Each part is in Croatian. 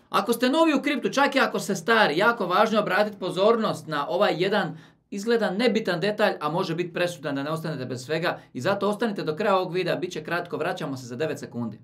Ako ste novi u kriptu, čak i ako ste stari, jako važno je obratiti pozornost na ovaj jedan izgleda nebitan detalj, a može biti presudan da ne ostanete bez svega i zato ostanite do kraja ovog videa, bit će kratko, vraćamo se za 9 sekundi.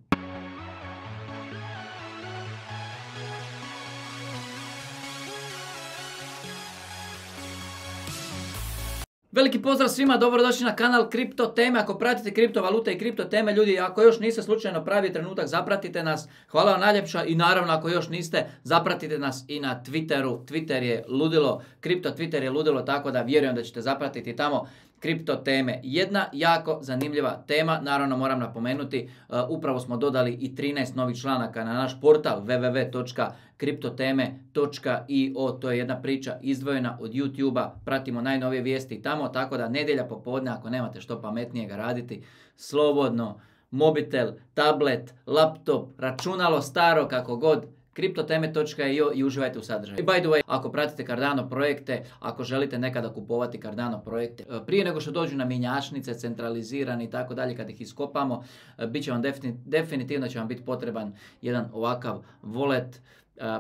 Veliki pozdrav svima, dobrodošli na kanal Kripto teme. Ako pratite kriptovalute i kripto teme, ljudi, ako još niste slučajno pravi trenutak, zapratite nas. Hvala vam najljepša i naravno ako još niste, zapratite nas i na Twitteru. Twitter je ludilo, kripto Twitter je ludilo, tako da vjerujem da ćete zapratiti tamo kripto teme. Jedna jako zanimljiva tema, naravno moram napomenuti, upravo smo dodali i 13 novih članaka na naš portal www.kriptoteme.io. To je jedna priča izdvojena od YouTube-a, pratimo najnovije vijesti tamo, tako da nedjelja popodne, ako nemate što pametnijega raditi, slobodno, mobitel, tablet, laptop, računalo staro, kako god, kriptoteme.io i uživajte u sadržaju. I by the way, ako pratite Cardano projekte, ako želite nekada kupovati Cardano projekte, prije nego što dođu na mjenjačnice, centralizirani i tako dalje, kad ih iskopamo, bit će vam definitivno će vam biti potreban jedan ovakav wallet.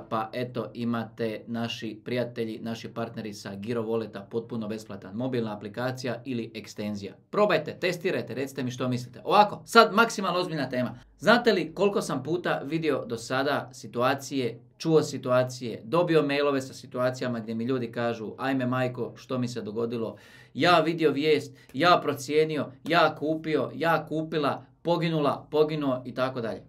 Pa eto, imate naši prijatelji, naši partneri sa Giro Walleta, potpuno besplatan, mobilna aplikacija ili ekstenzija. Probajte, testirajte, recite mi što mislite. Ovako, sad maksimalno ozbiljna tema. Znate li koliko sam puta vidio do sada situacije, čuo situacije, dobio mailove sa situacijama gdje mi ljudi kažu ajme majko, što mi se dogodilo, ja vidio vijest, ja procijenio, ja kupio, ja kupila, poginula, poginuo i tako dalje.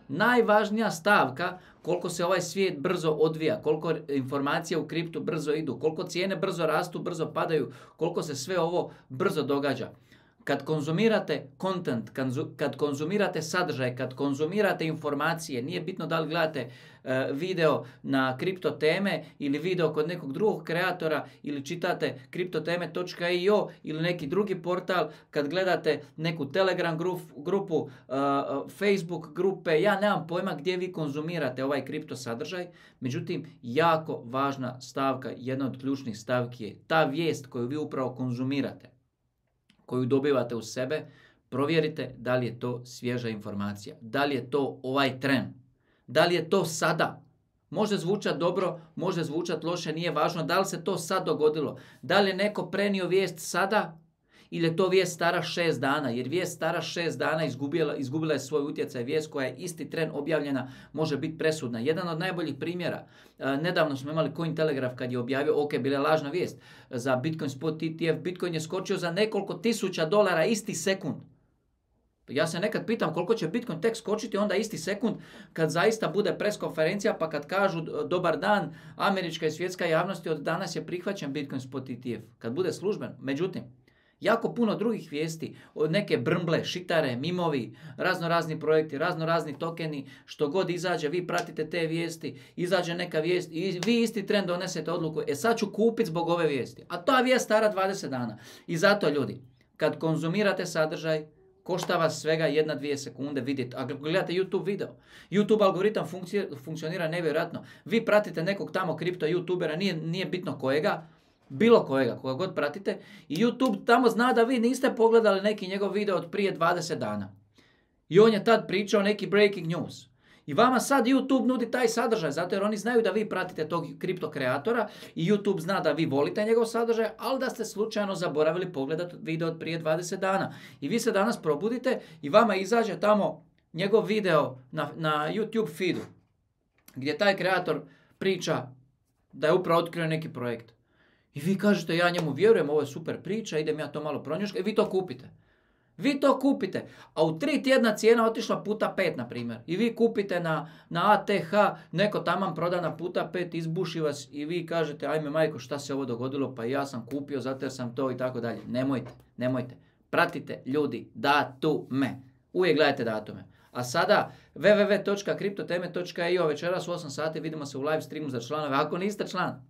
Najvažnija stavka, koliko se ovaj svijet brzo odvija, koliko informacija u kriptu brzo idu, koliko cijene brzo rastu, brzo padaju, koliko se sve ovo brzo događa. Kad konzumirate content, kad konzumirate sadržaj, kad konzumirate informacije, nije bitno da li gledate video na kripto teme ili video kod nekog drugog kreatora ili čitate kriptoteme.io ili neki drugi portal, kad gledate neku Telegram grupu, Facebook grupe, ja nemam pojma gdje vi konzumirate ovaj kripto sadržaj, međutim jako važna stavka, jedna od ključnih stavki je ta vijest koju vi upravo konzumirate, koju dobivate u sebe, provjerite da li je to svježa informacija, da li je to ovaj tren, da li je to sada. Može zvučati dobro, može zvučati loše, nije važno da li se to sad dogodilo. Da li je neko prenio vijest sada ili je to vijest stara 6 dana, jer vijest stara 6 dana izgubila je svoj utjecaj. Vijest koja je isti tren objavljena može biti presudna. Jedan od najboljih primjera, nedavno smo imali Cointelegraph kad je objavio, ok, bila je lažna vijest za Bitcoin Spot ETF, Bitcoin je skočio za nekoliko $1000 isti sekund. Ja se nekad pitam koliko će Bitcoin tek skočiti onda isti sekund kad zaista bude pres konferencija, pa kad kažu dobar dan, američka i svjetska javnosti, od danas je prihvaćen Bitcoin Spot ETF, kad bude služben. Međutim, jako puno drugih vijesti, od neke brmble, šitare, mimovi, raznorazni projekti, raznorazni tokeni, što god izađe, vi pratite te vijesti, izađe neka vijest i vi isti tren donesete odluku, sad ću kupiti zbog ove vijesti. A ta vijest stara 20 dana. I zato ljudi, kad konzumirate sadržaj, košta vas svega 1-2 sekunde vidjeti. Ako gledate YouTube video, YouTube algoritam funkcionira nevjerojatno. Vi pratite nekog tamo kripto youtubera, nije bitno kojega, bilo kojega, koga god pratite, i YouTube tamo zna da vi niste pogledali neki njegov video od prije 20 dana. I on je tad pričao neki breaking news. I vama sad YouTube nudi taj sadržaj, zato jer oni znaju da vi pratite tog kripto kreatora i YouTube zna da vi volite njegov sadržaj, ali da ste slučajno zaboravili pogledati video od prije 20 dana. I vi se danas probudite i vama izađe tamo njegov video na YouTube feedu, gdje taj kreator priča da je upravo otkrio neki projekt. I vi kažete, ja njemu vjerujem, ovo je super priča, idem ja to malo pronjuškati, i vi to kupite. Vi to kupite, a u 3 tjedna cijena otišla puta 5, na primjer. I vi kupite na ATH, neko taman proda na puta 5, izbuši vas i vi kažete, ajme majko, šta se ovo dogodilo, pa ja sam kupio zato jer sam to i tako dalje. Nemojte. Pratite ljudi datume. Uvijek gledajte datume. A sada www.kriptoteme.io, večeras u 8 sati vidimo se u live streamu za članove. Ako niste član,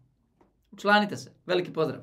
učlanite se. Veliki pozdrav.